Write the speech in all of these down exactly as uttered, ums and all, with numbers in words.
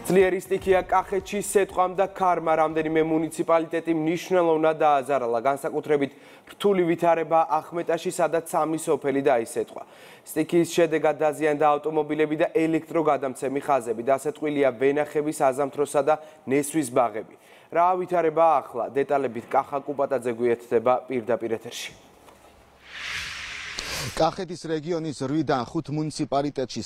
ძლიერი სტიქია კახეთში სეტყვამ და ქარმა რამდენიმე მუნიციპალიტეტი მნიშვნელოვნად დააზარალა, განსაკუთრებით რთული ვითარება ახმეტაში, სადაც სამი სოფელი დაისეტყვა. სტიქიის შედეგად დაზიანდა ავტომობილები და ელექტროგადამცემი ხაზები, დასეტყვილია ვენახების, აზამთროსა და ნესვის ბაღები. რა ვითარება ახლა? დეტალებით კახა კუპატაძე გვიერთდება პირდაპირ ეთერში. კახეთის რეგიონის რვიდან ხუთ მუნიციპალიტეტში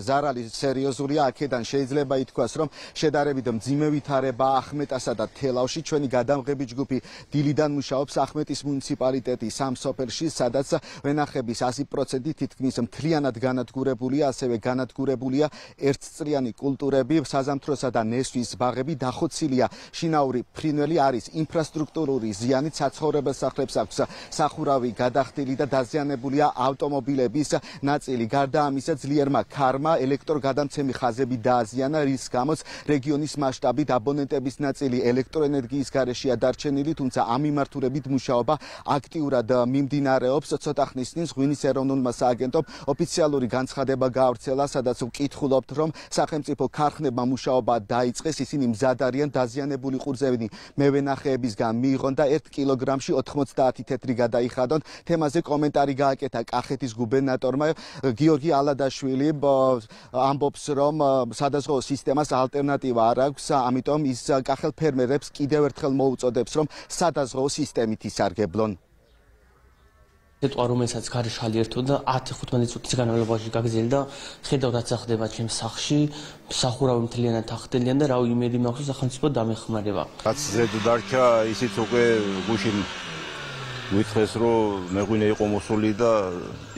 ზარალი სერიოზულია, აქედან შეიძლება ითქვას, რომ შედარებით მძიმე ვითარება ახმეტასა და თელავში. ჩვენი გადამღები ჯგუფი დილიდან მუშაობს ახმეტის მუნიციპალიტეტის სამ სოფელში, სადაც ვენახების ასი პროცენტი თითქმის მთლიანად განადგურებულია, ასევე განადგურებულია ერთწლიანი კულტურები, საზამთროსა და ნესვის ბაღები, დახოცილია შინაური ფრინველი, არის ინფრასტრუქტურული ზიანით, საცხოვრებელ სახლებს აქვს სახურავი გადახდილი და დაზიანებულია ავტომობილების ნაწილი. გარდა ამისა, ძლიერმა ქარმა ელექტროგადამცემი ხაზები დააზიანა, რის გამოც რეგიონის მასშტაბით აბონენტების ნაწილი ელექტროენერგიის გარეშეა დარჩენილი, თუმცა ამ მიმართულებით მუშაობა აქტიურად მიმდინარეობს. ცოტა ხნის წინ ღვინის ეროვნულმა სააგენტომ ოფიციალური განცხადება გაავრცელა, სადაც ვკითხულობთ, რომ სახელმწიფო ქარხნებმა მუშაობა დაიწყეს, ისინი მზად არიან დაზიანებული ყურძენი მევენახეებისგან მიიღონ და ერთ კილოგრამში ოთხმოცდაათი თეთრი გადაიხადონ. თემაზე კომენტარი გააკეთა კახეთის გუბერნატორმა გიორგი ალადაშვილი, ამბობს, რომ სადაზღვო სისტემას ალტერნატივა არ აქვს, ამიტომ ის კახელ ფერმერებს კიდევ ერთხელ მოუწოდებს, რომ სადაზღვო სისტემით ისარგებლონ. სიტყვა, რომელსაც გარეშალი ერთოდა ათი თხუთმეტი წუთის განმავლობაში გაგრძელდა, ხედავთ რაც ხდება ჩემს სახლში, სახურავი მთლიანად ახდენიან და რავი იმედი მაქვს სახელმწიფო დამეხმარება. რაც ზედ დარჩა, ისიც უკვე გუშინ ვითხრეს, რომ მეღვინე იყო მოსული და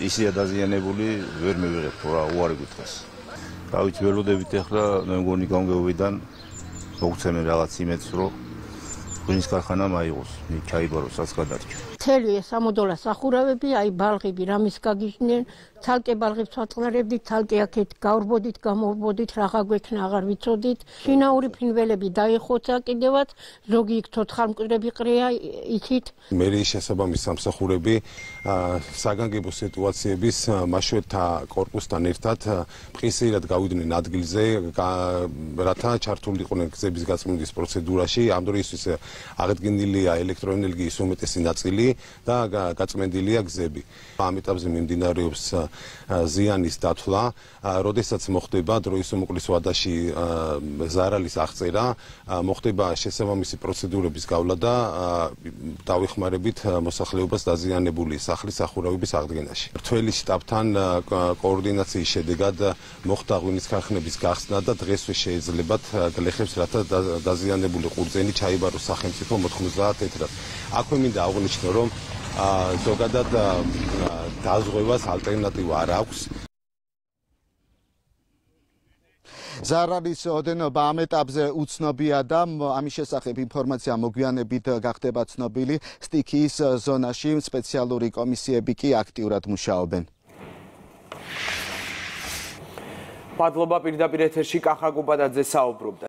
ისია დაზიანებული, ვერ მივიღებთ რა უარი გითხრეს. დავით ველოდებით ახლა მე მგონი გამგეობიდან მოგცემენ რაღაც იმედს, რომ ღვინის ქარხანა მაიღოს, ჩაიბაროს, რაც გადარჩა. მთელი სამოდოლა სახურავები, აი ბალღები რამის გაგიჟდნენ, ცალკე ბალღებს ვაწყნარებდით, ცალკე აქეთ გავრბოდით, გამოვბოდით, რაღა გვექნა აღარ ვიცოდით. შინაური ფრინველები დაიხოცა კიდევაც, ზოგი იქ ცოცხალმკვდრები ყრია იქით. მერიის შესაბამის სამსახურები საგანგებო სიტუაციების მაშველთა კორპუსთან ერთად მყისიერად გავიდნენ ადგილზე, რათა ჩართულიყვნენ გზების გაწმენდის პროცედურაში. ამ დროისთვის აღდგენილია ელექტროენერგიის უმეტესი ნაწილი და გაწმენდილია გზები. ამ ეტაპზე მიმდინარეობს ზიანის დათვლა, როდესაც მოხდება დროის უმოკლეს ვადაში ზარალის აღწერა, მოხდება შესაბამისი პროცედურების გავლა და დავეხმარებით მოსახლეობას დაზიანებული სახლის სახურავების აღდგენაში. მრთველი შტაბთან კოორდინაციის შედეგად მოხდა ღვინის ქარხნების გახსნა და დღესვე შეიძლებათ გლეხებს, რათა დაზიანებული ყურძენი ჩაიბაროს სახელმწიფო მოთხმოცდაათ თეთრად. აქვე მინდა აღვნიშნო, რომ ზოგადად დაზღვევას ალტერნატივა არ აქვს. ზარალის ოდენობა ამ ეტაპზე უცნობია და ამის შესახებ ინფორმაცია მოგვიანებით გახდება ცნობილი. სტიქიის ზონაში სპეციალური კომისიები კი აქტიურად მუშაობენ. მადლობა, პირდაპირ ეთერში კახა კუპატაძე საუბრობდა.